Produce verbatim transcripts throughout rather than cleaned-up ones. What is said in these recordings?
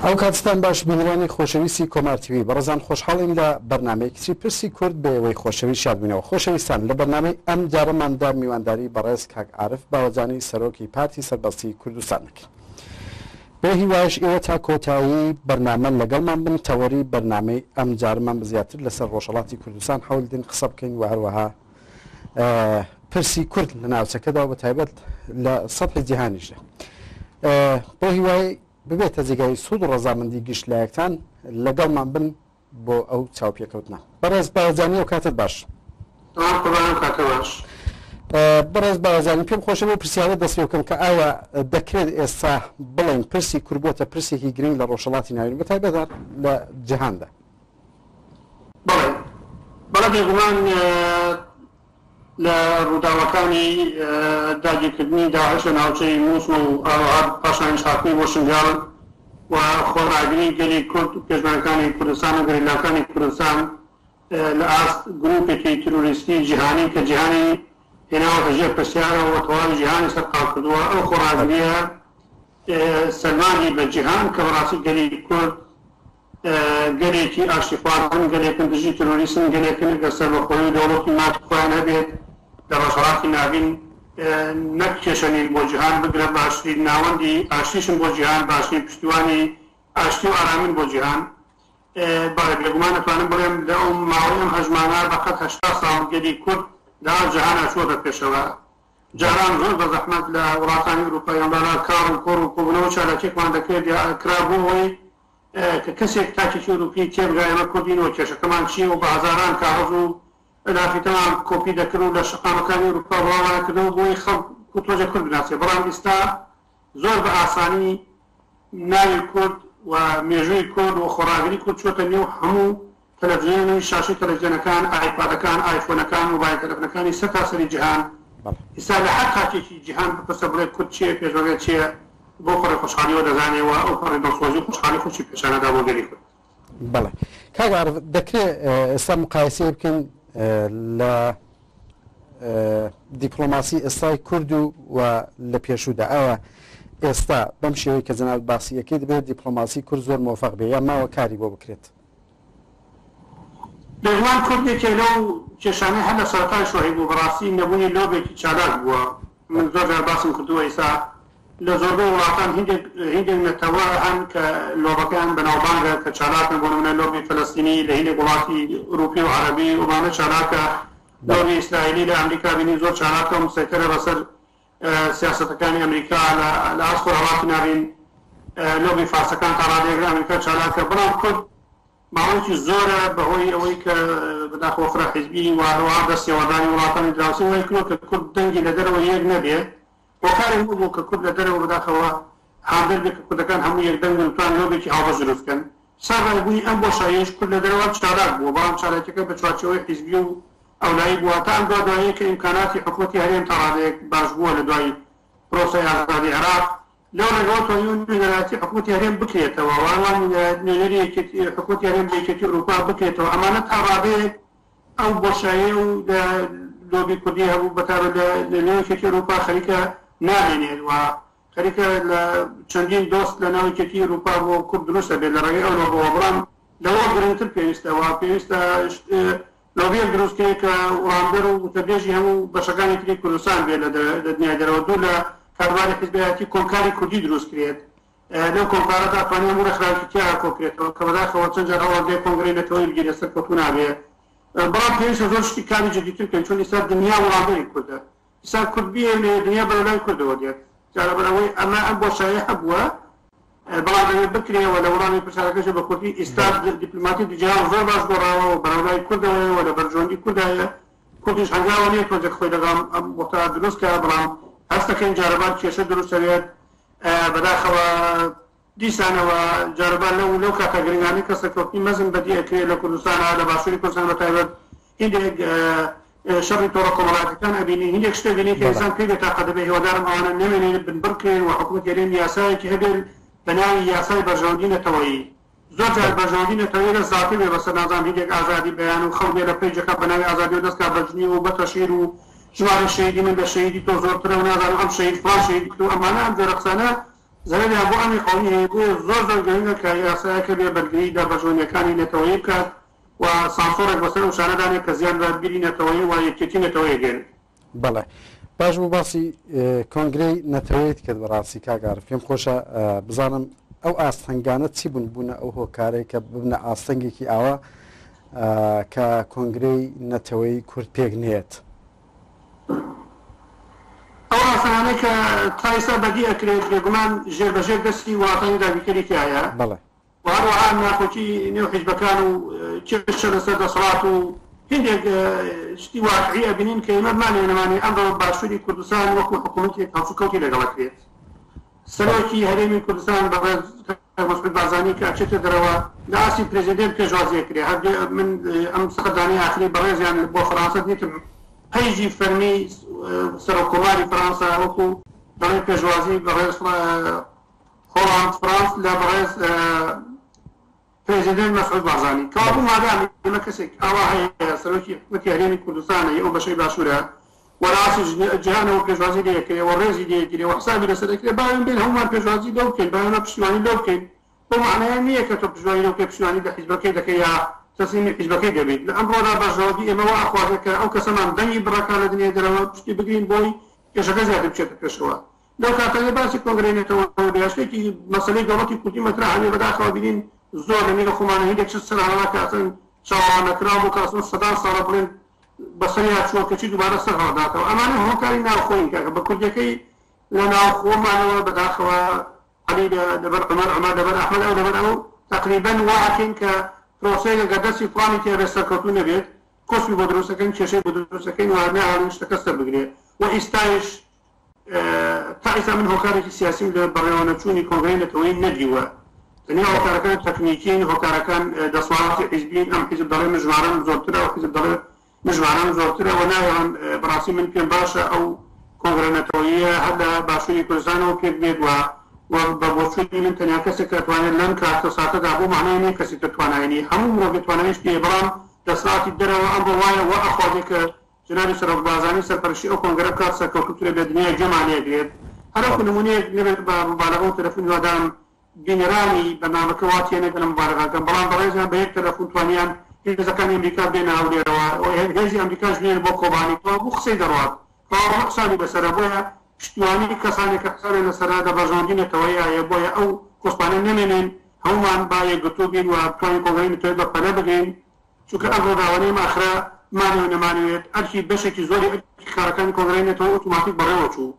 ئەو کاتستان باش بینەرانی خۆشەویستی کۆمار تیوی بەڕێزان خۆشحاڵین لە بەرنامەیەکی پرسی کورد بە ئێوەی خۆشەویست شادبووینەوە. خۆشەویستان لە بەرنامەی ئەم جارەماندا میوانداری بەڕێز کاک عارف باوەجانی سەرۆکی پارتی سەربەستی کوردستان دەکەین. بۆ هیوایش ئێوە تا کۆتایی بەرنامە لەگەڵمان بن. تەوەری بەرنامەی ئەم جارمان زیاتر لەسەر ڕۆژهەڵاتی کوردستان حەول دین قسە بکەین و هەروەها پرسی کورد لە ناوچەکەدا و بە تایبەت لە سەطحی جیهانیشدا. بۆ هیوای ببێتە جێگای سوود و ڕەزامەندی گشت لایەکتان لەگەڵمان بن بۆ ئەو چاوپێکەوتنە. بەڕێز باوەجانی ئەو کاتت باش. بەڕێز باوەجانی پێم خۆشە بۆ پرسیارە دەست پێ بکەم کە ئایا دەکرێت ئێستا بڵێن پرسی کورد بۆتە پرسێکی گرنگ لە ڕۆژهەڵاتی ناوین بە تایبەت لە جیهاندا؟ بەڵێ بەڵێ بێگومان لە ڕووداوەکانی داگیرکردنی داعش لە ناوچەی مووسڵ و ئاوەها پاشانیش هاتنی بۆ شنگال و خۆڕاگری گەلی کورد پێشمەرگەکانی کوردستان و گەریلاکانی کوردستان لە ئاست گروپێکی تیرۆریستی جیهانی کە جیهانی هێناوەتە ژێر پرسیارەوە و تەواوی جیهانی سەرقاڵ کردووە، ئەو خۆڕاگریە سەلماندی بە جیهان کە بەڕاستی گەلی کورد گەلێکی ئاشتیخوازن، گەلێکن دژی تیرۆریسم، گەلێکن ئەگەر سەربەخۆیی و دەوڵەتی مافی خۆیان هەبێت لە ڕۆژهەڵاتی ناوین نەک کێشە نین بۆ جیهان، بگرە باشترین ناوەندی ئاشتیشن بۆ جیهان، باشترین پشتیوانی ئاشتی و ئارامین بۆ جیهان. بەڵێ بێگومان ئەتوانم بڵێم لە ئەو ماوەی ئەم هەژمانە بەقەد هەشتا ساڵ گەلی کورد لە جیهانە چووەتە پێشەوە. جاران زۆر بە زەحمەت لە وڵاتانی ئەوروپا یان کار و کۆڕ و کۆبوونەوە چالاکیەکمان دەکرێت یا کرا بۆ ئەوەی کە کەسێک تاکێکی ئەوروپی تێبگا ئێمە کوردین و کێشەکەمان چییە و بە هەزاران کاغەز و لافیتەمان کۆپی دەکرد و لە شەقامەکانی ئەوروپا بڵاوانە کردەوە بۆی خەڵک تۆژە کورد بناسێ. بەڵام ئێستا زۆر بە ئاسانی ناوی کورد و مێژووی کورد و خۆڕاگری کورد چۆتە نێو هەموو تەلەڤیزیۆن و شاشەی تەلەڤیزیۆنەکان، ئایپادەکان، ئایفۆنەکان، مۆبایل تەلەفۆنەکانی سەرتاسەری جیهان. ئێستا لە هەر خاکێکی جیهان بپرسە بڵێ کورد چییە، پێشمەرگە چییە، بۆ پەڕی خۆشحاڵیەوە دەزانێەوە ئەو پەڕی دڵسۆزی و خۆشحاڵی خۆشی پێشانەدا بۆ گەلی کورد. بەڵێ کاک عارف، دەکرێت ئێستا مقایسەیە بکەین لە دیپلۆماسی ئێستای کورد و و لە پێشوودا ئایا ئێستا بەم شێوەی کە جەنابت باسیەکەی دەبێت دیپلۆماسی کورد زۆر مۆفەق بێ یا ماوە کاری بۆ بکرێت؟ بێگومان کورد یەکێک لەو کێشانەی هەر لە سەرەتای شۆڕی بوو، بەڕاستی نەبوونی لۆبێکی چالاک بووە. من زۆر جار باسم کردووە ئێستا لە زۆربەی وڵاتان هیندێک هیندێک نەتەوە هەن کە لۆبەکەیان بەناوبانگە کە چالاکن، بۆ نمونە لۆبی فەلەستینی لە هیندێک وڵاتی ئەوروپی و عەرەبی ئەوانە چالاکە، لۆبی ئیسرائیلی لە ئەمریکا بینی زۆر چالاکە و مسەیتەرە بەسەر سیاسەتەکانی ئەمریکا لە ئاست خۆرهەڵاتی ناوین، لۆبی فارسەکان تا ڕادەیەک لە ئەمریکا چالاکە. بەڵام کورد ماوەیەکی زۆرە بەهۆی ئەوەی کە بەداخەوە فرە حیزبی و هەروەها دەستێوەردانی وڵاتانی دراوسێ وای کردووە کە کورد دەنگی لە دەرەوە یەک نەبێ. هۆکارێک بوو کە کورد لە دەرەوە بەداخەوە هاندەر بێ کە کوردەکان هەموو یەک دەنگ بن توان لۆبێکی هاوبەش دروست بکەن. سەرەڕای بوونی ئەم بۆشاییەش کورد لە دەرەوە چالاک بووە، بەڵام چالاکیەکە بە چوارچێوەی حیزبی و ئەولایی بووە. تا ئەم دوادواییە کە ئیمکاناتی حکوومەتی هەرێم تا ڕادەیەک باش بووە لە دوای پرۆسەی ئازادی عێراق، لەو ڕێگەوە توانیوە نوێنەرایەتی حکوومەتی هەرێم بکرێتەوە و هەروەها نوێنەری حکوومەتی هەرێم لە یەکێتی ئەوروپا بکرێتەوە. ئەمانە تا ڕادەیەک ئەو بۆشاییە و لە لۆبی کوردی هەبوو بەتایبەت لە نێو یەکێتی ئەوروپا خەریکە نامێنێت و خەریکە لە چەندین دۆست لە ناو یەکێتی ئەوروپا بۆ کورد دروستە بێت لە ڕێگەی ئەو لۆبەوە. بەڵام لەوە گرنگتر پێویستە و پێویستە لۆبیەک دروست کرێت کە وڵامدەر و وتەبێژی هەموو بەشەکانی تری کوردستان بێت لە دنیای دەرەوە، دوور لە کاروباری حیزبایەتی کۆمکاری کوردی دروست کرێت. لەو کۆمکارەدا توانێت هەموو ڕێکخراوێکی تیا کۆکرێتەوە کە بەداخەوە چەند جار هەوڵ دێ کۆنگرەی نەتەوەیی بگیرێت سەرکەوتوو نابێ. بەڵام پێویستە زۆر شتی کاری جدیتر بکەین، چون ئێستا دنیا وڵامدەری کوردە. ئێستا کورد بیەوێ دنیا بەرەو لای کوردەوە دێت. جا لەبەر ئەوەی ئەمە ئەم بۆشایە هەبووە، بەڵام دەبێت بکرێەوە. لە وەڵامی پرسیارەکەش بە کوردی ئێستا دیپلۆماتی جیهان زۆر باش گۆڕاوە و بەرەو لای کوردەوەیە و لە بەرژەوەندی کوردایە. کوردیش هەنگاوە نییە تۆزێک خۆی لەگەڵ ئەم وەختە دروست کە، بەڵام هەستەکەین جارەبار کێشە دروست دەبێت. بەداخەوە دیسانەوە جارەبار لەو لەو کاتە گرنگانەی کە سەرکەوتنی مەزن بەدی ئەکرێت لە کوردستانە، لە باشووری کوردستان بەتایبەت، هیندێک شەڕی تۆڕە کۆمەڵایەتیەکان ئەبینی، هیندێک شتێک بینی کە ئینسان پێی بێتاقەت دەبێت. هیوادارم ئەوانە نەمێنێت، بنبڕکرێن و حکوومەتی هەرێم یاسایەکی هەبێت بە ناوی یاسای بەرژەوەندی نەتەوەیی. زۆر جار بەرژەوەندی نەتەوەیی لە زاتی بێ بەسەر نازانم هیندێک ئازادی بەیان و خەڵک بێ لە پەیجەکە بە ناوی ئازادی و دەستکا بە جنیو و بە تەشهیر و ژمارە شەهیدی من لە شەهیدی تۆ زۆرترە و نازانم ئەم شەهید فڵان شەهید کرد و ئەمانە ئەم جۆرە قسانە زەرەریان بۆ ئەمی قەومی هەیە. بۆیە زۆر زۆر گرنگە کە یاسایەکە بێ بەرگری لە بەرژەوەندیەکانی نەتەوەیی بکات و سانسۆڕێک بەسەر ئەو شانەدانێت کە زیان بە بیری نەتەوەیی و یەکێتی نەتەوەیی گەێنێت. بەڵێ باش بوو باسی کۆنگرەی نەتەوەیت کرد. بەڕاستی کاک عارف پێم خۆشە بزانم ئەو ئاستەنگانە چی بوون بوونە ئەو هۆکارەی کە ببنە ئاستەنگێکی ئاوا کە کۆنگرەی نەتەوەی کورد پێک نێت؟ ئەو ئاستەنگانەی کە تا ئێستا بەدی ئەکرێت بێگومان ژێر بەژێر دەستی وڵاتانی داگیرکەری تیایە، بەڵێ و هەروەها ناکۆکی نێو حیزبەکان و کێشە لەسەر دەسەڵات و هندێک شتی واقعی ئەبینین کە ئێمە بمانەوێ نەمانەوێ ئەمڕۆ باشووری کوردستان وەکو حکوومەتێک هەڵسوکەوتی لەگەڵ ئەکرێت. سەرۆکی هەرێمی کوردستان بەڕێز مەسعود بارزانی کە ئەچێتە دەرەوە لە ئاستی پرێزیدێنت پێشوازی ئەکرێ. هەر من ئەم سەردانەی ئاخری بەڕێزیان بۆ فەرانسە دیتم، پەیجی فەرمی سەرۆک کۆماری فەرانسە وەکو دەڵێ پێشوازی بەڕێز هۆڵاند فرانس لە بەڕێز پرێزیدێنت مەسعود بارزانی. کەوابوو مادام ئێمە کەسێک ئاوا هەیە سەرۆکی حکوومەتی هەرێمی کوردستانە ئەو بەشەی باشوورە و لە ئاستی جیهانەوە پێشوازی لێ ئەکرێ و ڕێزی لێ ئەگیرێ و حسابی لەسەر ئەکرێ، باوێن بێن هەموومان پێشوازی لەو بکەین، باوێن پشتیوانی لەو بکەین. بەو معنایە نییە کە تۆ پشتیوانی لەو بکەی پشتیوانی لە حیزبەکەی دەکەی یا تەسلیمی حیزبەکەی دەبیت. لە ئەمڕۆدا بەرژەوەندی ئێمە وا ئەخوازێت کە ئەو کەسەمان دەنگی بڕەکان لە دنیای دەرەوە پشتی بگرین بۆی کێشەکە زیاتر بچێتە پێشەوە. لەو کاتانەی باسی کۆنگرەی نەتەوە بێ شتێکی مەسەلەی دەوڵەتی کوردی مەترا هەبێ، بەداخەوە بینین زۆر لە نێو خۆمانە هیندێک شت سەر هەڵا کە ئەسڵەن چاوەڕوان نەکراو بوو کە ئەسڵەن سەدان ساڵە بڵێن بەسەریا چووە کەچی دووبارە سەر هەڵداتەوە. ئەمانە هۆکاری ناوخۆین کاکە بە کوردیەکەی لە ناوخۆمانەوە بەداخەوە عەلی لەبەر عومەر، عومەر لەبەر ئەحمەد، ئەو لەبەر ئەو، تقریبا وا ئەکەین کە پرۆسەیەک ئەگەر دەستی فڵانی تیا بێت سەرکەوتوو نەبێت کۆسپی بۆ دروستەکەین، کێشەی بۆ دروستەکەین و ناهێڵین شتەکە سەر بگرێ. و ئێستایش تا ئێستا من هۆکارێکی سیاسیم لە بەڕێوەنەچوونی کۆنگرەی نەتەوەیی نەدیوە. تەنیا هۆکارەکان تەکنیکین، هۆکارەکان دەسەڵاتی حیزبین. ئەم حیزب دەڵێ من ژمارەم زۆرترە، ئەو حیزب دەڵێ من ژمارەم زۆرترە و ناهێڵن. بەڕاستی من پێم باشە ئەو کۆنگرە نەتەوەییە هەر لە باشووری کوردستانەوە پێک بێت و و بە بۆچوونی من تەنیا کەسێک کە توانێت لەم کاتە ساتەدا بۆ معنای نییە کەسی تر توانایی نییە، هەموو مرۆڤ تواناییش نییە، بەڵام دەسەڵاتی دەرەوە ئەمڕۆ وایە وا ئەخوازێ کە جەنابی سەرۆک بارزانی سەرپەرشتی ئەو کۆنگرە بکات سەرکەوتووترە بێ دنیا گوێمان لێگرێت. هەروەکو نمونەیەک نەبێت بە مبالغە و تەلەفۆن هیوادارم بینەرانی بەرنامەکە وا تێنەگەن لە مبالغەکەم، بەڵام بەڕێزیان بە یەک تەلەفۆن توانیان هێزەکانی ئەمریکا بێنە هەولێرەوە، هێزی ئەمریکاش بێنە بۆ کۆبانی، کەوابوو قسەی دەڕوات، کەوابوو حسابی لەسەرە. بۆیە پشتیوانی کەسانێک کە حسابیان لەسەرە لە بەرژەوەندی نەتەوەیە، بۆیە ئەو کۆسپانە نەمێنن، هەمومان با یەکگرتوو بین و بتوانین کۆنگرەی نەتەوەیی بە پەلە بگرین، چونکە ئەم ڕووداوانەی ئێمە ئاخرە مانەوێ نەمانەوێت ئەرکی بەشێکی زۆری ئەرکی کارەکانی کۆنگرەی نەتەوە ئۆتۆماتیک بەڕێوە چوو،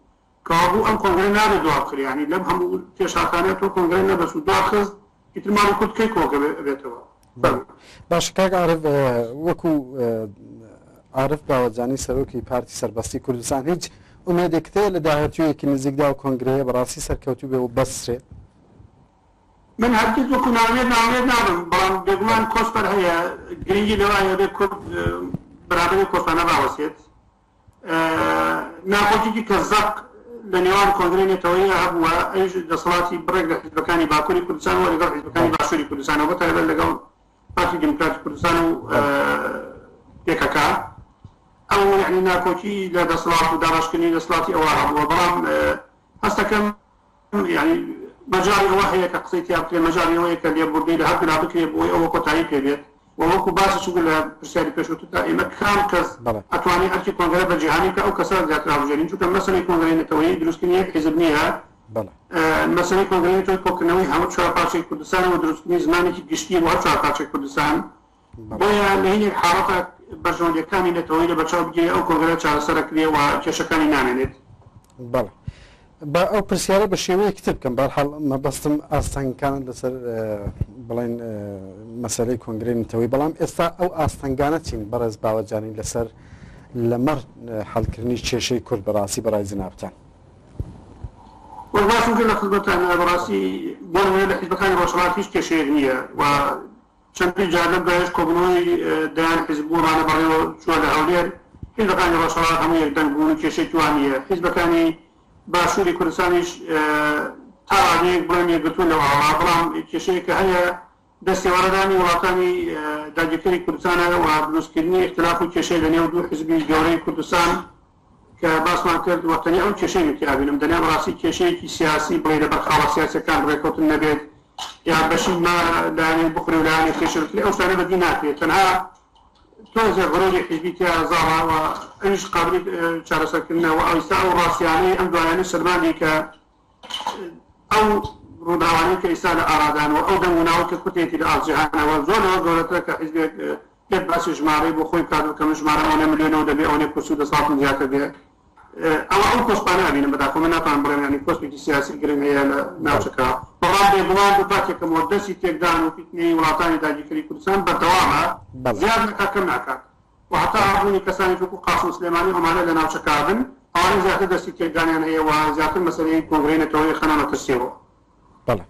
کەوابوو ئەم کۆنگرە نابێت دوا بخرێ. یعنی لەم هەموو پێشهاتانە تۆ کۆنگرە نەبەست و دوا خست، ئیتر ماڵی کورد کەی کۆگە بێتەوە؟ باش کاک عارف، وەکو عارف باوەجانی سەرۆکی پارتی سەربەستی کوردستان هیچ ئومێدێکت هەیە لە داهاتوویەکی نزیکدا و کۆنگرەیە بەڕاستی سەرکەوتوو بێ و بەسرێ؟ من هەرگیز وەکو ناوێت ناوێت نابم، بەڵام بێگومان کۆسپەر هەیە، گرنگی لەوایە بێ کورد بەرابەری کۆسپانە باوەسێت. ناکۆکیی کە زەق لە نێوان کۆنگرەی نەتەوەیی هەبووە، ئەویش دەسەڵاتی بڕێک لە حیزبەکانی باکووری کوردستان و لەگەڵ حیزبەکانی باشووری کوردستانەوە، بەتایبەت لەگەڵ پارتی دیموکراتی کوردستان و پێکەکە. ئەو یعنی ناکۆکی لە دەسەڵات و دابەشکردنی دەسەڵاتی ئەوە هەبووە، بەڵام هەستەکەم یعنی مەجالی ئەوە هەیە کە قسەی تیا بکرێ، مەجالی ئەوەیە کە لێبوردنی لە هەردوولا بکرێ بۆی ئەوە کۆتایی پێ بێت. و وەکو باسی چونکە لە پرسیاری پێشووتردا ئێمە کام کەس ئەتوانێت ئەرکی کۆنگرە بە جیهانی کە ئەو کەسە زیاتر هەڵبژێرین، چونکە مەسەلەی کۆنگرەی نەتەوەیی دروستکردنی یەک حیزب نییە، مەسەلەی کۆنگرەی نەتەوەیی کۆکردنەوەی هەموو چوار پارچەی کوردستان و دروستکردنی زمانێکی گشتی بۆ هەر چوار پارچەی کوردستان. بۆیە لە هینێک حاڵەتە بەرژەوەندیەکانی نەتەوەیی لە بەرچاو بگیرێ ئەو کۆنگرە چارەسەرەکرێ و کێشەکانی نامێنێت. بەڵێ با ئەو پرسیارە بە شێوەیەکی تر بکەم، بەهەرحاڵ مەبەستم ئاستەنگەکانت لەسەر بڵێن مەسەلەی کۆنگرەی نەتەوەیی، بەڵام ئێستا ئەو ئاستەنگانە چین بەڕێز باوەجانی لەسەر لەمەڕ حەلکردنی کێشەی کورد بەڕاستی بەڕای جنابتان؟ وەک باسم کرد لە خزمەتان، بەڕاستی بۆ نمونە لە حیزبەکانی ڕۆژهەڵات هیچ کێشەیەک نییە و چەندین جار لەم دوایش کۆبوونەوەی دەیان حیزب بوو ڕانە بەڕێوە چووە لە هەولێر، حیزبەکانی ڕۆژهەڵات هەموو یەکدەنگ بوون و کێشەیەکی وا نییە. حیزبەکانی باشووری کوردستانیش تا ڕادەیەک بڵێن یەکگرتوون لەو ئاوا، بەڵام کێشەیەکە هەیە دەستێوەردانی وڵاتانی داگیرکەری کوردستانە و دروستکردنی اختلاف و کێشەی لە نێو دوو حیزبی گەورەی کوردستان کە باسمان کرد و تەنیا ئەو کێشەی من تیا بینم. دەنیا بەڕاستی کێشەیەکی سیاسی بڵێ لەبەر خاڵە سیاسیەکان ڕێکەوتن نەبێت یا بەشی ما لایەنێک بخورێ و لایەنێک کێشە بکرێ، ئەو شتانە بەدی ناکرێت. تەنها تۆزێ غرۆری حیزبی تیا زاڵە و ئەویش قابلی چارەسەرکردنە و ئەویستا ئەو ڕاستیانەی ئەم دوایانە سەلماندی کە ئەو ڕووداوانەی کە ئێستا لە ئارادان و ئەو دەنگ و ناوە کە کورتێتی لە ئاست جیهانەوە زۆر لەوە گەورەترە کە حیزبێک بێت باسی ژمارەی بۆ خۆی بکات و کە من ژمارە ئەوەنە ملیۆنەوە دەبێ ئەوەنە کورسی و دەسەڵاتم زیاتر بێ. ئەوە ئەو کۆسپانە ئەبینم بەداخەوە من ناتوانم بڵێم یعنی کۆسپێکی سیاسی گرنگ هەیە لە ناوچەکە، بەڵام بێگومان دووپاتێکەمەوە دەستی تێکدان و فیتنەی وڵاتانی داگیرکەری کوردستان بەردەوامە، زیاد ناکات کەم ناکات و هەتا هەبوونی کەسانی وەکو قاسم سلێمانی ئەمانە لە ناوچەکە بن ئەوانە زیاتر دەستی تێکدانیان هەیە و زیاتر مەسەلەی کۆنگرەی نەتەوەیی خەنە مەترسیەوە. بەڵێ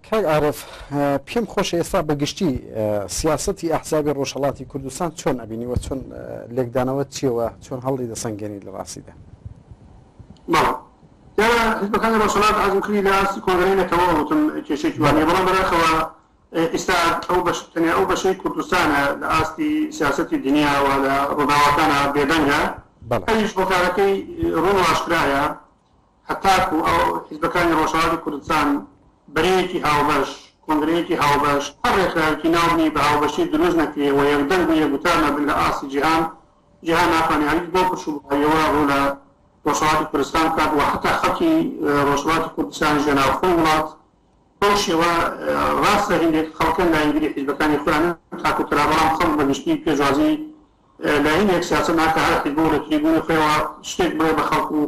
کاک عارف، پێم خۆشە ئێستا بەگشتی سیاسەتی ئەحزابی ڕۆژهەڵاتی کوردستان چۆن ئەبینی و چۆن لێکدانەوە چیەوە چۆن هەڵی دەسەنگێنی لە ڕاستیدا؟ بەڵێ دیارە حیزبەکانی ڕۆژهەڵات عەزم کردی لە ئاستی کۆنگرەی نەتەوە وتم کێشەیەکی وا نییە، بەڵام بەداخەوە ئێستا ئەو بەش تەنیا ئەو بەشەی کوردستانە لە ئاستی سیاسەتی دنیا و لە ڕووداوەکانە بێدەنگە، ئەویش هۆکارەکەی ڕوون و ئاشکرایە. هەتاکو ئەو حیزبەکانی ڕۆژهەڵاتی کوردستان بەرەیەکی هاوبەش، کۆنگرەیەکی هاوبەش، هەر ڕێکخراوێکی ناوبنی بە هاوبەشی دروست نەکرێ و یەکدەنگ و یەکگوتار نەبن لە ئاستی جیهان، جیهان ناتوانێت هەرگیز بەو پرش و بڵاویەوە ڕوو لە ڕۆژهەڵاتی کوردستان بکات و حتا خەڵکی ڕۆژهەڵاتی کوردستانیش لە ناوخۆی وڵات بەو شێوە ڕاستە هەندێک خەڵکن لایەنگری حیزبەکانی خۆیانن تاکو ترا، بەڵام خەڵک بەگشتی پێشوازی لایەنێک سیاسەت ناکە، هەر حیزب و لە تریبوونی خۆیەوە شتێک بڵێ بە خەڵک و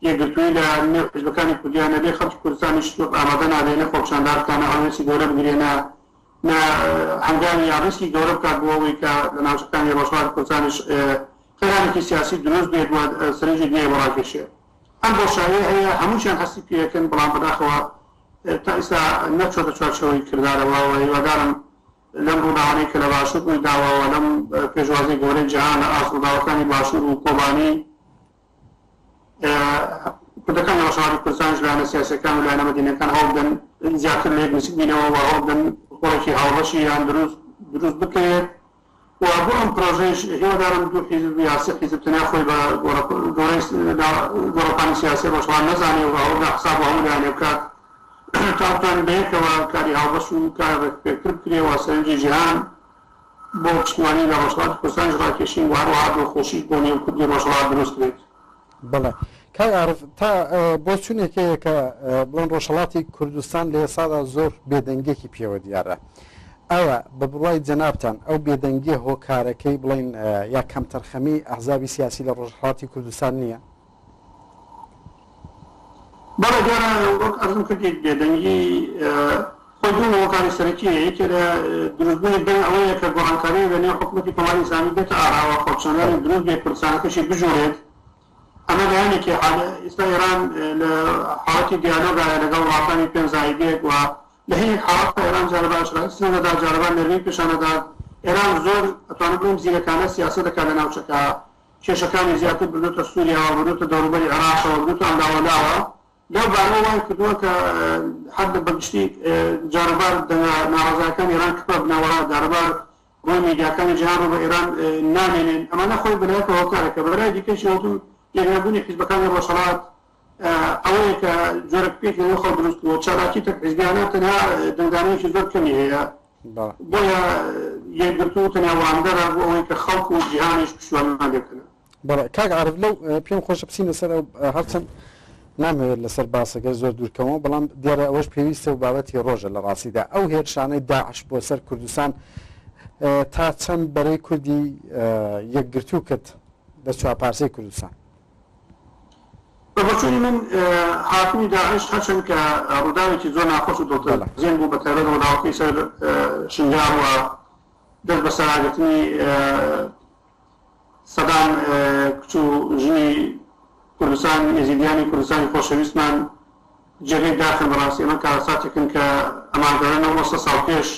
یەکگرتووی لە نێو حیزبەکانی کوردیان نەبێ، خەڵکی کوردستانیش ئامادە نابێ نە خۆپیشاندان بکات، نە هەڵوێستی گەورە بگرێ، نە نە هەنگاوی یا ڕیسکی گەورە بکات بۆ ئەوەی کە لە ناوچەکانی ڕۆژهەڵاتی کوردستانیش قەیرانێکی سیاسی دروست بێت و سەرنجی دنیای بۆ ڕاکێشێ. ئەم بۆشاییە هەیە، هەمووشیان هەستی پێیەکەن، بەڵام بەداخەوە تا ئێستا نەچۆتە چوارچێوەی کردارەوە و هیوادارم لەم ڕووداوانەی کە لە باشوور ڕووی داوە و لەم پێشوازی گەورەی جیهان لە ئاست ڕووداوەکانی باشوور و کۆبانی، کوردەکان لە ڕۆژهەڵاتی کوردستانیش لایەنە سیاسیەکان و لایەنە مەدەنیەکان هەوڵ بدەن زیاتر لە یەک نزیک بینەوە و هەوڵ بدەن کۆڕێکی هاوبەشی یان دروست دروست بکرێت و بۆ ئەم پرۆژەیش هیوادارم دوو حیزب یا سێ حیزب تەنیا خۆی بە گۆڕەپانی سیاسی ڕۆژهەڵات نەزانێ و ئەوە حساب هەموو لایەنێ بکات تا بتوانین بەیەکەوە کاری هاوبەش و کاری ڕێکپێکتر بکرێ و سەرنجی جیهان بۆ پشتیوانی لە ڕۆژهەڵاتی کوردستانیش ڕاکێشین و هەروەها دڵخۆشیش بۆ نێو کوردی ڕۆژهەڵات دروست بێت. بەڵێ کاک عارف، تا بۆچوونێک هەیە کە بڵێن ڕۆژهەڵاتی کوردستان لە ئێستادا زۆر بێدەنگێکی پێوە دیارە، ئایا بە بڕوای جەنابتان ئەو بێدەنگیە هۆکارەکەی بڵێن یا کەمتەرخەمی ئەحزابی سیاسی لە ڕۆژهەڵاتی کوردستان نییە؟ بەڵێ دیارە وەک عەرزم کردی بێدەنگی خۆی دوو هۆکاری سەرەکیە. یەکێ لە دروستبوونی دەنگ ئەوەیە کە گۆڕانکاری لە نێو حکوومەتی کۆماری ئیسلامی بێتە ئاراوە، خۆپیشاندانی دروست بێ، کوردستانەکەشی بژوڕێت. ئەمە لایەنێکی ئێستا ئێران لە حاڵەتی دیالۆگایە لەگەڵ وڵاتانی پێنج زایدێک و لە هەندێک حاڵەتدا ئێران جارەبان ئیسلام دەدات، جارەبان نەرمی پیشان دەدات. ئێران زۆر ئەتوانم بڵێم زیرەکانە سیاسەت دەکات لە ناوچەکە، کێشەکانی زیاتر بردوتە سووریاوە، بردوتە دەوروبەری عێراقەوە، بردوتە ئەملاوەلاوە. لەو بارەوە وای کردووە کە هەر بەگشتی جارەبار دەنگە ناڕەزایەکانی ئێران کپە بنەوە، جارەبار ڕووی میدیاکانی جیهان ڕوو بە ئێران نامێنن. ئەمانە خۆی بەلایەکەوە هۆکارێکە. بەلای دیکەشی وتم یەکنەبوونی حیزبەکانی ڕۆژهەڵات ئەوەیە کە جۆرە پێکی لەنێو خەڵک دروست بووە. چالاکی تەک حیزبیانە تەنها دەنگدانەیەکی زۆر کەمی هەیە، بۆیە یەکگرتوو تەنیا وڵامدەرە بۆ ئەوەی کە خەڵک و جیهانیش پشتیوانیمان لێ بکەن. بەڵێ کاک عارف، لەو پێم خۆشە بچینە سەر ئەو، هەرچەند نامەوێت لەسەر باسەکە زۆر دوورکەمەوە، بەڵام دیارە ئەوەش پێویستە و بابەتی ڕۆژە لە ڕاستیدا. ئەو هێرشانەی داعش بۆ سەر کوردستان تا چەند بەرەی کوردی یەکگرتوو کرد لە چوارپارچەی کوردستان؟ بە بۆچوونی من هاتنی داعش هەرچەند کە ڕووداوێکی زۆر ناخۆش و دڵتەزێن بوو، بە تایبەت ڕووداوەکەی سەر شنگال و دەست بەسەراگرتنی سەدان کچ و ژنی کوردستان، ئێزیدیانی کوردستانی خۆشەویستمان جێگەی داخن. بەڕاستی ئەمە کارەساتێکن کە ئەمانگەڕێنەوە سە ساڵ پێش.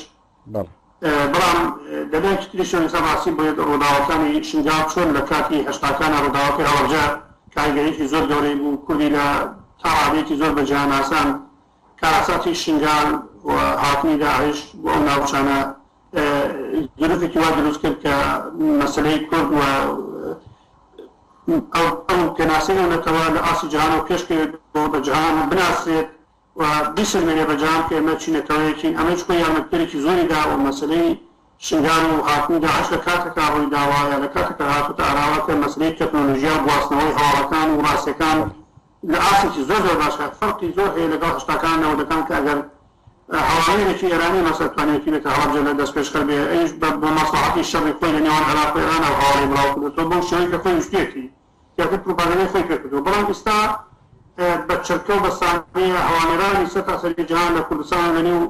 بەڵام لەلایەکی تریشەوە ئێستا ڕاستی بڵێت ڕووداوەکانی شنگال چۆن لە کاتی هەشتاکانە ڕووداوەکەی هەڵەبجە کاریگەریەکی زۆر گەورەی بوو، کوردی لە تا ڕادەیەکی زۆر بە جیهانناسان. کارەساتی شنگال و هاتنی داعش بۆ ئەو ناوچانە ظروفێکی وا دروست کرد کە مەسەلەی کورد و ئەو پێناسەی ئەو نەتەوە لە ئاستی جیهانەوە پێشکەوێت بە جیهان بناسرێت و بیسەلمێنێ بە جیهان کە ئێمە چی نەتەوەیەکین. ئەمەش خۆی یارمەتیدەرێکی زۆری دا و مەسەلەی شنگال و هاتنی داعش لە کاتێکا ڕووی داوە یا لە کاتێکا هاتوتە ئاراوە کە مەسەلەی تەکنۆلۆژیا و گواستنەوەی هەواڵەکان و ڕاستیەکان لە ئاستێکی زۆر زۆر باشە. فەرقی زۆر هەیە لەگەڵ هەشتاکان نەوەدەکان کە ئەگەر هەواڵێکی ئێرانی مەسەل توانێتی بێتە هەڵەبجە لە دەستپێشخەر بێ، ئەویش بە مەسڵەحەتی شەڕی خۆی لە نێوان عێراق و ئێران ئەو هەواڵی بڵاو کردوەوە بەو شێوەی کە خۆی ویستویەتی، زیاتر پروپاگەندەی خۆی پێ کردووە. بەڵام ئێستا بە چرکە و بە سانیە هەواڵێرانی سەرتاسەری جیهان لە کوردستان لە نێو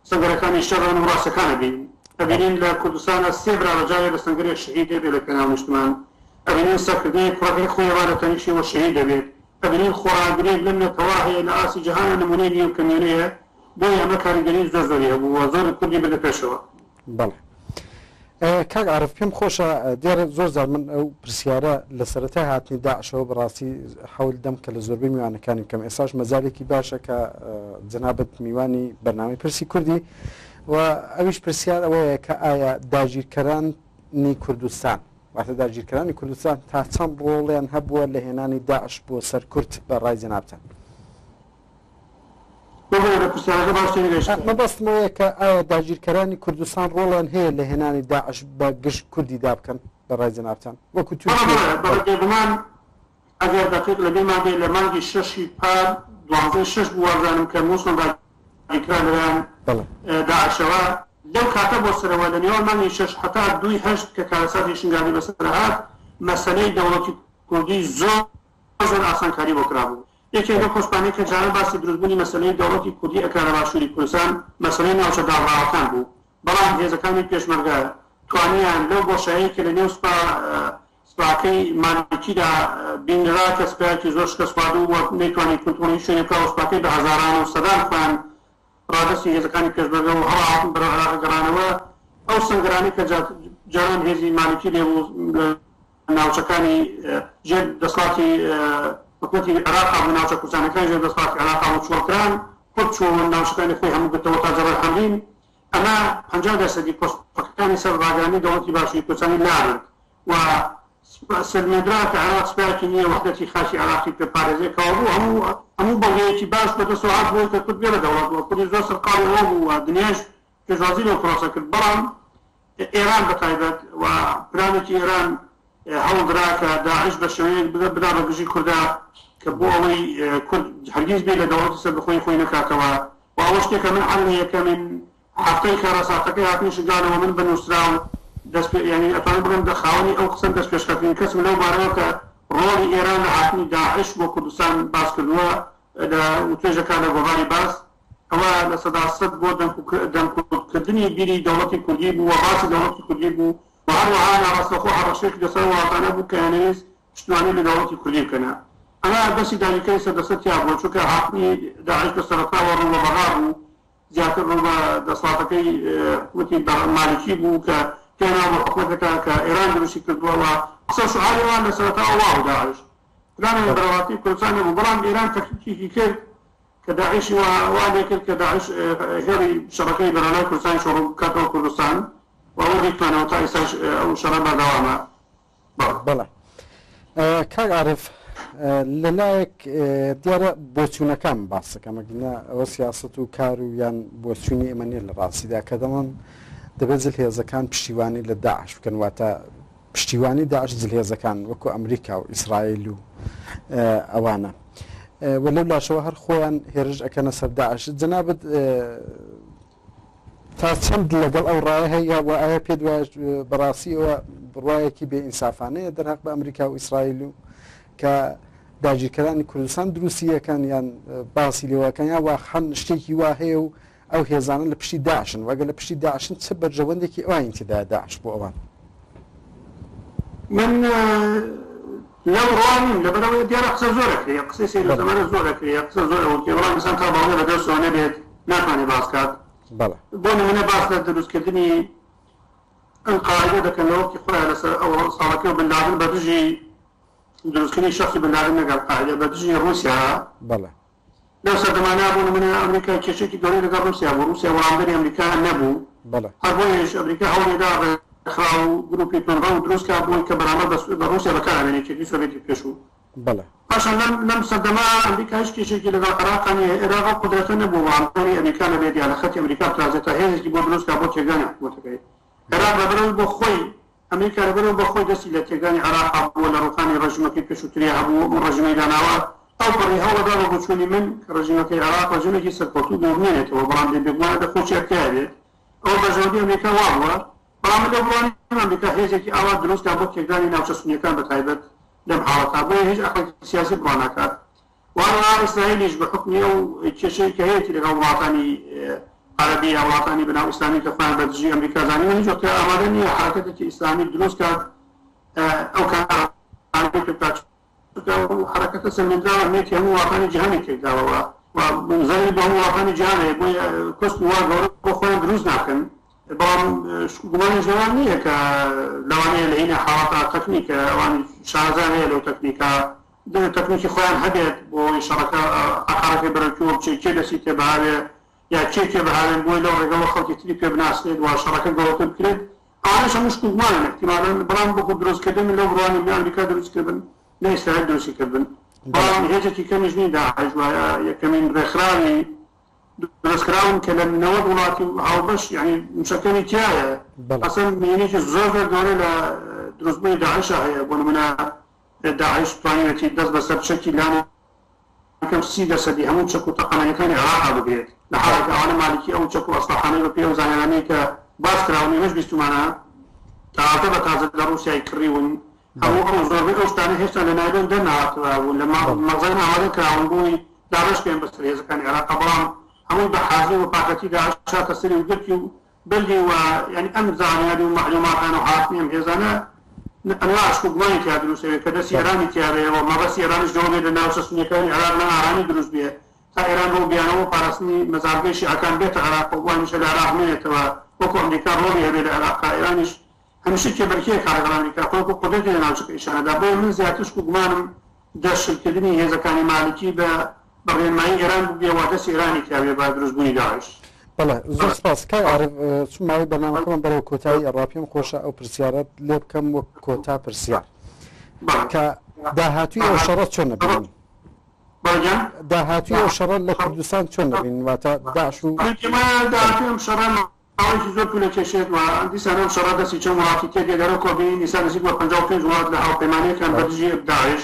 سەنگەرەکانی شەڕن و ڕاستەکان ئەبینین. ئەبینین لە کوردستانە سێ برا بە جارێ لە سەنگەرێک شەهید دەبێت لە پێناو نیشتمان. ئەبینین سەرکردەیەک کوڕەکەی خۆی وا لە تەنیشتەوە شەهید دەبێت. ئەبینین خۆڕاگرێک لەم نەتەوە هەیە لە ئاستی جیهانە نمونەی نییە و کەمێنەیە. بۆیە ئەمە کاریگەری زۆر زۆری هەبوو و زۆر کوردی بردە پێشەوە. بەڵێ کاک عارف، پێم خۆشە دیارە زۆر جار من ئەو پرسیارە لە سەرەتای هاتنی داعشەوە بەڕاستی حەول دەم کە لە زۆربەی میوانەکانی بکەم. ئێستاش مەجالێکی باشە کە جەنابت میوانی بەرنامەی پرسی کوردی و ئەویش پرسیار ئەوەیە کە ئایا داگیرکەرانی کوردستان، واتە داگیرکەرانی کوردستان تا چەند ڕۆڵیان هەبووە لە هێنانی داعش بۆ سەر کورد بە ڕای جەنابتان؟ مەبەستمەوەیە کە ئایا داگیرکەرانی کوردستان ڕۆڵیان هەیە لە هێنانی داعش بە گشت کوردی دابکەن بە ڕای جەنابتان وەکو تورکیا؟ بێگومان ئەگەر دەقیق لەبیرمان بێ لە مانگی شەشی پار دوازدەی شەش بوو وابزانم کە مووسڵ داگیرکرا لەلایەن داعشەوە. لەو کاتە بۆ سەرەوە لە نێوان مانگی شەش هەتا دووی هەشت کە کارەساتی شنگالی بەسەر هات، مەسەلەی دەوڵەتی کوردی زۆر زۆر ئاسانکاری بۆ کرابوو. یەکێک لەو خۆشبانەی کە جاران باسی دروستبوونی مەسەلەی دەوڵەتی کوردی ئەکرا لە باشووری کوردستان مەسەلەی ناوچە داڕاوەکان بوو، بەڵام هێزەکانی پێشمەرگە توانیان لەو بۆشایی کە لە نێو سپا سپاکەی مالکیدا بینرا کە سپایەکی زۆر شکست خواردوو و نەیتوانی کنترۆڵی شوێنێ بکا و سپاکەی بە هەزاران و سەدان خۆیان ڕادەستی هێزەکانی پێشمەرگە و هەڵهاتن بەرەو عێراق گەڕانەوە. ئەو سەنگەرانەی کە جاران هێزی مالکی لێ بوو لە ناوچەکانی ژێر دەسەڵاتی حکوومەتی عێراق بوو، ناوچە کوردستانەکان ژێر دەسەڵاتی عێراق بوو، چۆڵکران، کورد چۆن ناوچەکانی خۆی هەموو گرتەوە تا جەبەل حەمرین. ئەمە پەنجا دەرسەدی پۆستەکانی سەر ڕاگەیاندنی دەوڵەتی باشووری کوردستانی لابرد و سەلمێندرا کە عێراق سوپایەکی نییە وەحدەتی خاکی عێراقی پێپارێزێ. کەوابوو هەموو هەموو بەڵگەیەکی باش بەدەستەوە هات بۆی کە کورد بێ بە دەوڵەت و کوردی زۆر سەرقاڵی ئەوە بوو و دنیاش پێشوازی لەو پرۆسە کرد. بەڵام ئێران بەتایبەت و پلانێکی ئێران هەوڵدرا کە داعش بە شێوەیەک بدا بە گژی کووردا کە بۆ ئەوەی کورد هەرگیز بێ لە دەوڵەتی سەربەخۆی خۆی نەکاتەوە. و ئەوە شتێکە من عەلە یەکەمین هەفتەی کارەساتەکەی هاتنی شنگالەوە من بەنووسراو دەست یعنی ئەتوانم بڵێم دە خاوەنی ئەو قسەم دەست پێشکەوتنی کەسم لەو بارەوە کە ڕۆڵی ئێران لە هاتنی داعش بۆ کوردستان باس کردووە لە وتوێژەکان لە گۆڤاری باس، ئەوە لە سەدا سەد بۆ دەمکوتکردنی بیری دەوڵەتی کوردی بوو و باسی دەوڵەتی کوردی بوو و هەروەها ناڕاستەوخۆ هەڕەشەیەک لەسەر وڵاتانە بوو کە یانەویست پشتیوانی لە دەوڵەتی کوردی بکەنە. ئەمە دەستی داگیرکەری سەردەسەر تیا بووە، چونکە هاتنی داعش لە سەرەتاوە ڕوو بە بەغا بوو، زیاتر ڕوو بە دەسەڵاتەکەی حکوومەتی مالکی بوو کە پێناو بە حکوومەتەکە کە ئێران دروستی کردووە و قسە شعاری ئەوان لە سەرەتاوە وا بوو داعش پلانیان بەرەڵاتی کوردستان نەبوو. بەڵام ئێران تەکنیکێکی کرد کە داعشی وا لێ کرد کە داعش هێڵی شەڕەکەی بەرەڵای کوردستان شۆڕ بکاتەوە کوردستان و ئەوە ڕیکمانەوە تا ئێستاش ئەو شەڕە بەردەوامە. بەڵێ کاک عارف، لەلایەک دیارە بۆچوونەکان باسەکەم ئەگەرنا ئەوە سیاسەت و کار و یان بۆچوونی ئێمە نییە لە ڕاستیدا کە دەڵێن دەبێت زلهێزەکان پشتیوانی لە داعش بکەن، واتە پشتیوانی داعش زلهێزەکان وەکو ئەمریکا و ئیسرائیل و ئەوانە و لەو لاشەوە هەر خۆیان هێرش ئەکەنە سەر داعش. جەنابت تا چەند لەگەڵ ئەو ڕایە هەیە و ئایا پێت وایە بەڕاستی ئەوە بڕوایەکی بێئینسافانەیە دەرهەق بە ئەمریکا و ئیسرائیل و کە داگیرکەرانی کوردستان دروستیەکان یان باسی لێوەکان یا واقعا شتێکی وا هەیە و ئەو هێزانە لە پشتی داعشن وەگەر لە پشتی داعشن چه بەرژەوەندێکی ئەوانی تێدایە داعش بۆ ئەوان؟ من لەو ڕوانیم لەبەرەوەی دیارە قسە زۆر ئەکرێ، قسەی سەیر و سەمەرە زۆر ئەکرێ، قسە زۆر ئەوکرێ، بەڵام ئینسان تا بەڵگە بەدەستەوە نەبێت ناتوانێت باس کات. بۆ نمونە باس لە دروستکردنی ئەلقاعدە دەکەن لە وەختی خۆیان لەسەر ئەو ساڵەکە بن لادن بە دژی دروستکردنی شخصی بن لادن نەک ئەلقاعدە، بە دژی ڕووسیا. لەو سەردەمانە بۆ نمونە ئەمریکا کێشێکی گەورەی لەگەڵ ڕووسیا بوو، ڕووسیا وەڵامدەری ئەمریکا نەبوو، هەر بۆیەش ئەمریکا هەوڵیدا ڕێکخراو و گروپی توندڕەو دروست کرد بۆی کە بەرامبەر بە ڕووسیا بەکارهێنێ یەکێتی سۆڤێتی پێشوو. پاشان لەم سەردەما ئەمریکا هیچ کێشێکی لەگەڵ عێراقا نییە، عێراق ئەو قودرەتە نەبوو وەڵامدەری ئەمریکا نەبێت یا لە خەتی ئەمریکا بترازێت تا هێزێکی بۆ دروست کرد بۆ تێکدانی حکوومەتەکەی عێراق. لەبەرەوەی بۆ خۆی ئەمریکا لەبەرەوە بۆ خۆی دەستی لە تێکدانی عێراق بووە، لە ڕووخانی ڕژیمەکەی پێشووتریا هەبوو و ڕژیمەی داناوە. ئەو پەڕی هەوڵەدا بە بۆچوونی من کە ڕژیمەکەی عێراق ڕژیمێکی سەرکەوتوو بۆ بمێنێتەوە، بەڵام بێگومان لە خۆشی ئەرکایە بێت. ئەوە بەرژەوەندی ئەمریکا وا بووە، بەڵام من لەو بڕوانیم ئەمریکا هێزێکی ئاوا دروست کرد بۆ تێکدانی ناوچە سونیەکان بەتایبەت لەم حاڵەتا، بۆیە هیچ عەقڵێکی سیاسی بڕوا ناکات. وهەروەها ئیسرائیلیش بە حوکمی ئەو کێشەی کە هەیەتی لەگەڵ وڵاتانی عەرەبی یا وڵاتانی بەناو ئیسلامی کە خۆیان بە دژی ئەمریکا زانیوە، هیچ وەختێ ئامادە نییە حرەکەتێکی ئیسلامی دروست کات ئەو کارانەی پێ بکات، چونکە ئەو حرەکەتە سەلمێندراوە ئەهمیەتی هەموو وڵاتانی جیهانی تێکداوە و زەرەری بۆ هەموو وڵاتانی جیهان هەیە، بۆیە کۆسپ وا گەورە بۆ خۆیان دروست ناکەن. بەڵام گومانیش لەوان نییە کە لەوانەیە لە هینە حاڵەتە تەکنیکە ئەوان شارەزا هەیە لەو تەکنیکە تەکنیکی خۆیان هەبێت بۆ ئەوەی شەڕەکە ئاقارەکەی بەرەو کوێ بچێت، کێ دەستی تێبهاوێ یا کێ کێ بهاوێن بۆی لەو ڕێگەوە خەڵکی تری پێ بناسرێت و شەڕەکە گەورەتر بکرێت. ئەوانەش هەموو شک و گومانن احتیمالاً، بەڵام وەکو دروستکردن من لەو بڕوانیم نە ئەمریکا دروست کردن نە ئیسرائیل دروستی کردن، بەڵام هێزێکی کەمیش نین داعش وایە یەکەمین ڕێکخراوی دروستکراون کە لە نەوەد وڵاتی هاوبەش یعنی مشەکەنی تایە. ئەسڵەن مێنێکی زۆر زۆر گەورە لە دروستبوونی داعشا هەیە. بۆ نمونە داعش توانیوێتی دەست بەسەر چەکی لانە کەم سی دەرسەدی هەموو چەک و تەقەمەنیەکانی عێراقا بگرێت، لە حاڵێک ئەوانە مالکی ئەو چەک و ئەسلحانەی بە پێی ئەو زانیارانەی کە باس کراون ئێمەش بیستومانە تازە بە تازە لە ڕووسیای کڕیون، هەموو ئەو زۆربەی ئەو شتانە هێشتا لە نایلۆن دەرنەهاتبوون، لە مەخزەن ئامادە کراون بۆی دابەش بکەن بەسەر هێزەکانی عێراقا، بەڵام هەمووی بە حازر و پاکەتی داعش هاتە سەری و گرتی و بردی و یعنی ئەم زانیاری و مەعلوماتان و هاتنی ئەم هێزانە ئەنواع شک و گومانی تیا دروست ئەوێ کە دەستی ئێرانی تیا بێ و مەبەستی ئێرانیش لەوە بێت لە ناوچە سونیەکانی عێراق نائارامی دروست بێ تا ئێران بۆ بیانەوە و پاراستنی مەزارگەی شیعەکان بێتە عێراق و هەمیشە لە عێراق بمێنێتەوە وەکو ئەمریکا ڕۆڵی هەبێ لە عێراق. ئێرانیش هەمیشە کێبەرکێ کار لەگەڵ ئەمریکا خۆی وەکو قودرەتی لە ناوچەکە ئیشانەدا. بۆیە من زیاتر شک و گومانم دەشلکردنی هێزەکانی مالکی بە بە ڕێنمایی ئێران بوو بێ و دەستی ئێرانی تیا بێ بە دروستبوونی داعش. بەڵێ زۆر سپاس کاک عارف. چون ماوەی بەرنامەکەمان بەرەو کۆتایی ئەڕوا، پێم خۆشە ئەو پرسیارەت لێ بکەم وەک کۆتا پرسیار کە داهاتووی ئەو شەڕە چۆن نەبینن؟ داهاتووی ئەو شەڕە لە کوردستان چۆن نەبینن؟ واتە داعش و داهاتووی ئەم شەڕە ماوەیەکی زۆر پولە کێشێت و دیسان ئەم شەڕە دەستی چەند وڵاتی تێدێ دەرەوە کۆبینی دیسان نزیک بە پەنجا و پێنج وڵات لە هاوپەیمانیەکان بە دژی داعش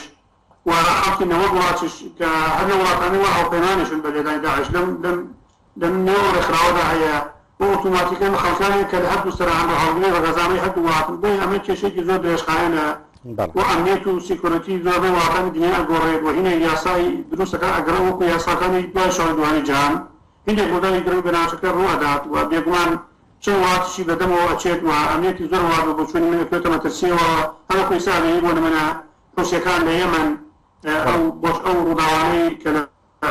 و خەڵکی نەوەد وڵاتیش کە هەر لە وڵاتانی وا هاوپەیمانیشن بە لێدانی داعش لەم لەم لەم نێو ڕێکخراوەدا هەیە و ئۆتۆماتیکەن خەڵکانێک کە لە هەردوو سەرە هەم هەڵگری ڕەگەزانەی هەردوو وڵاتن. بۆیە ئەمە کێشێکی زۆر درێژخایەنە و ئەمنیەت و security زۆربەی وڵاتانی دنیا ئەگۆڕێت و هینێک یاسای دروستەکە ئەگەڕێ وەکو یاساکانی دوای شەڕی دووهەمی جیهان هینێک ڕووداوی گرنگ بە ناوچەکە ڕوو ئەدات و بێگومان چەند وڵاتیشی بەدەمەوە ئەچێت و ئەمنیەتی زۆر وڵات بە بۆچوونی من ئەکەوێتە مەترسیەوە. هەروەکو ئێستا ئەبینی بۆ نمونە حوسیەکان لە یەمەن ئەو بۆش ئەو ڕووداوانەی کە لە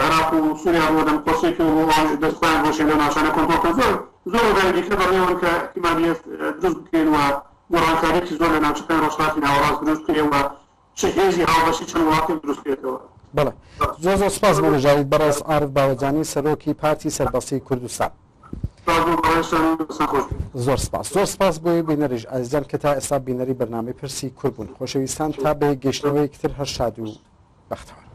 عێراق و سووریا ڕوودەن قۆسێکی و ئەوانیش دەست خۆیان بۆشێن لەو ناوچانە کۆنترۆڵ کەن. زۆر زۆر ڕووداوی دیکە بەڕێوەن کە احتیمالیە دروست بکرێن و گۆڕانکاریەکی زۆر لە ناوچەکانی ڕۆژهەڵاتی ناوەڕاست دروست بکرێ و چه هێزی هاوبەشی چەند وڵاتێک دروست بکرێتەوە. بەڵێ زۆر زۆر سپاس بۆ بەشداریت بەڕێز عارف باوەجانی سەرۆکی پارتی سەربەستی کوردستان. زۆر سپاس زۆر سپاس بۆی بینەریش ئازیزان کە تا ئێستا بینەری بەرنامەی پرسی کورد بوون. خۆشەویستان تا بە گەیشتنەوەیەکتر هەر شاد و بەختەوەر.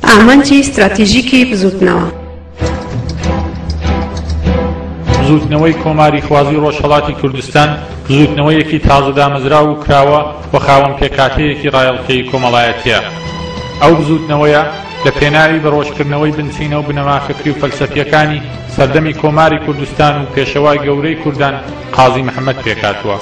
ئامانجی ستراتیژیکی بزوتنەوە. بزوتنەوەی کۆماری خوازی ڕۆژهەڵاتی کوردستان بزوتنەوەیەکی تازە دامەزراو و کراوە و خاوەن پێکهاتەیەکی ڕایەڵکەی کۆمەڵایەتیە. ئەو بزوتنەوەیە لە پێناوی بەڕۆژکردنەوەی بنچینە و بنەما فکری و فەلسەفیەکانی سەردەمی کۆماری کوردستان و پێشەوای گەورەی کوردان قازی محەممەد پێکهاتووە.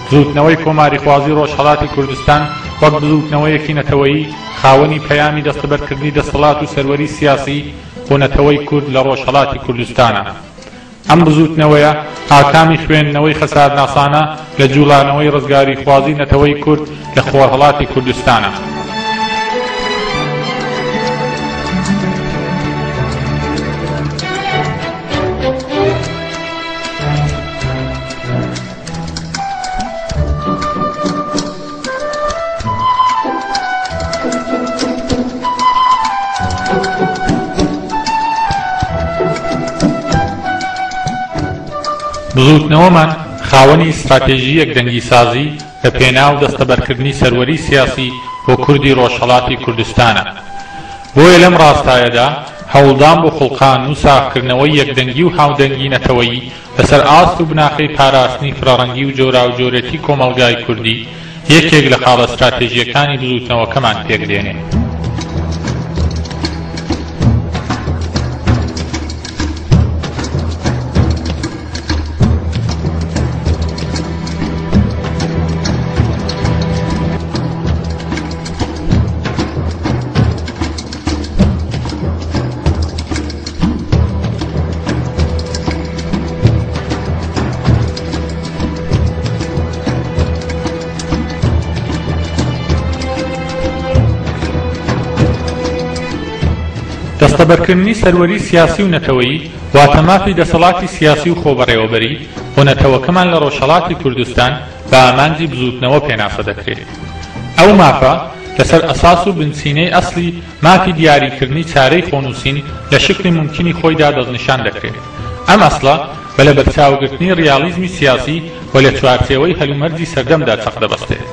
بزوتنەوەی کۆماری خوازی ڕۆژهەڵاتی کوردستان وەک بزوتنەوەیەکی نەتەوەیی خاوەنی پەیامی دەستەبەرکردنی دەسەڵات و سەروەری سیاسی بۆ نەتەوەی کورد لە ڕۆژهەڵاتی کوردستانە. ئەم بزوتنەوەیە ئاکامی خوێندنەوەی خەسارناسانە لە جوڵانەوەی ڕزگاری خوازی نەتەوەی کورد لە خۆرهەڵاتی کوردستانە. بزوتنەوەمان خاوەنی استراتێژیەک دەنگی سازی لە پێناو دەستەبەرکردنی سەروەری سیاسی بۆ کوردی ڕۆژهەڵاتی کوردستانە. بۆیە لەم ڕاستایەدا هەوڵدان بۆ خوڵقان و ساغکردنەوەی یەکدەنگی و هاودەنگی نەتەوەیی لەسەر ئاست و بناخەی پاراستنی فرەڕەنگی و جۆراوجۆرێتی کۆمەڵگای کوردی یەکێک لە خاڵە استراتێژیەکانی بزوتنەوەکەمان پێک دێنێ. دەستەبەرکردنی سەروەری سیاسی و نەتەوەیی واتە مافی دەسەڵاتی سیاسی و خۆبەڕێوەبەری بۆ نەتەوەکەمان لە ڕۆژهەڵاتی کوردستان بە ئامانجی بزوتنەوە پێناسە دەکرێت. ئەو مافە لەسەر ئەساس و بنچینەی ئەسلی مافی دیاریکردنی چارەی خۆنووسین لە شکلی ممکنی خۆیدا دەستنیشان دەکرێت. ئەم ئەسڵە بە لەبەرچاوگرتنی ڕیالیزمی سیاسی و لە چوارچێوەی هەلومەرجی سەردەمدا چەق دەبەستێت.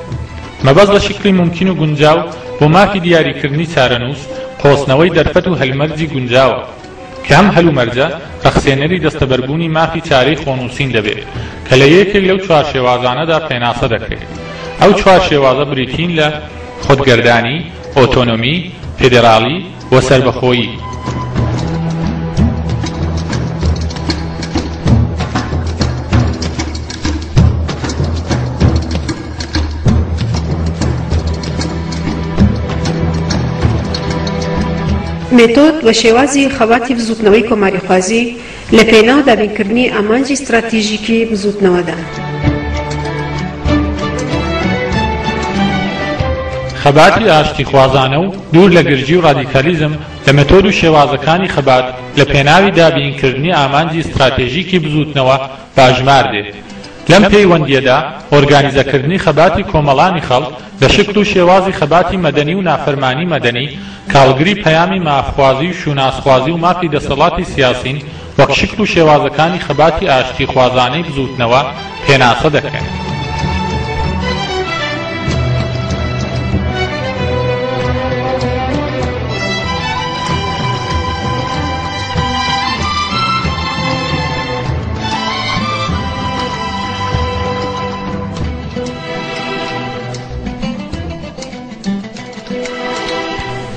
مەبەست لە شکلی ممکن و گونجاو بۆ مافی دیاریکردنی چارەنووس قۆستنەوەی دەرفەت و هەلمەرجی گونجاوە کە ئەم هەلومەرجە ڕەخسێنەری دەستەبەربوونی مافی چارەی خۆنووسین دەبێت کە لە یەکێک لەو چوار شێوازانەدا پێناسە دەکرێت. ئەو چوار شێوازە بریتین لە خودگەردانی، ئۆتۆنۆمی، فێدراڵی و سەربەخۆیی. مێتۆد و شێوازی خەباتی بزوتنەوەی کۆماریخوازی لە پێناو دابینکردنی ئامانجی ستراتیژیکی بزوتنەوەدا. خەباتی ئاشتیخوازانە و دوور لە گرژی و ڕادیکالیزم لە مێتۆد و شێوازەکانی خەبات لە پێناوی دابینکردنی ئامانجی ستراتێژیکی بزوتنەوە باژمار دێت. لەم پەیوەندییەدا ئۆرگانیزەکردنی خەباتی کۆمەڵانی خەڵک لە شکڵ و شێوازی خەباتی مەدەنی و نافەرمانی مەدەنی کە هەڵگری پەیامی مافخوازی و شوناسخوازی و مافی دەسەڵاتی سیاسین وەک شکڵ و شێوازەکانی خەباتی ئاشتیخوازانەی بزووتنەوە پێناسە دەکرێن.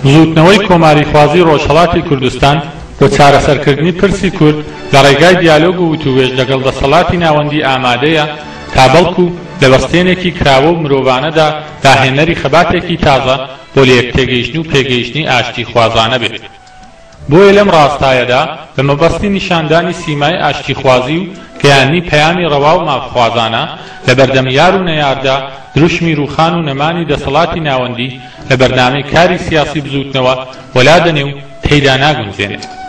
بزووتنەوەی کۆماریخوازی ڕۆژهەڵاتی کوردستان بۆ چارەسەرکردنی پرسی کورد لە ڕێگای دیالۆگ و وتووێژ لەگەڵ دەسەڵاتی ناوەندی ئامادەیە تا بەڵکو لە بەستێنێکی کراوە و مرۆڤانەدا داهێنەری خەباتێکی تازە بۆ لەیەکتێگەیشتن و پێگەیشتنی ئاشتیخوازانە بێت. بۆیە لەم ڕاستایەدا بە مەبەستی نیشاندانی سیمای ئاشتیخوازی و گەیاندنی پەیامی ڕەوا و مافخوازانە لە بەردەم یار و نەیاردا دروشمی ڕووخان و نەمانی دەسەڵاتی ناوەندی لە بەرنامەی کاری سیاسی بزووتنەوە وەلا دەنێ و تێیدا ناگونجێنێ.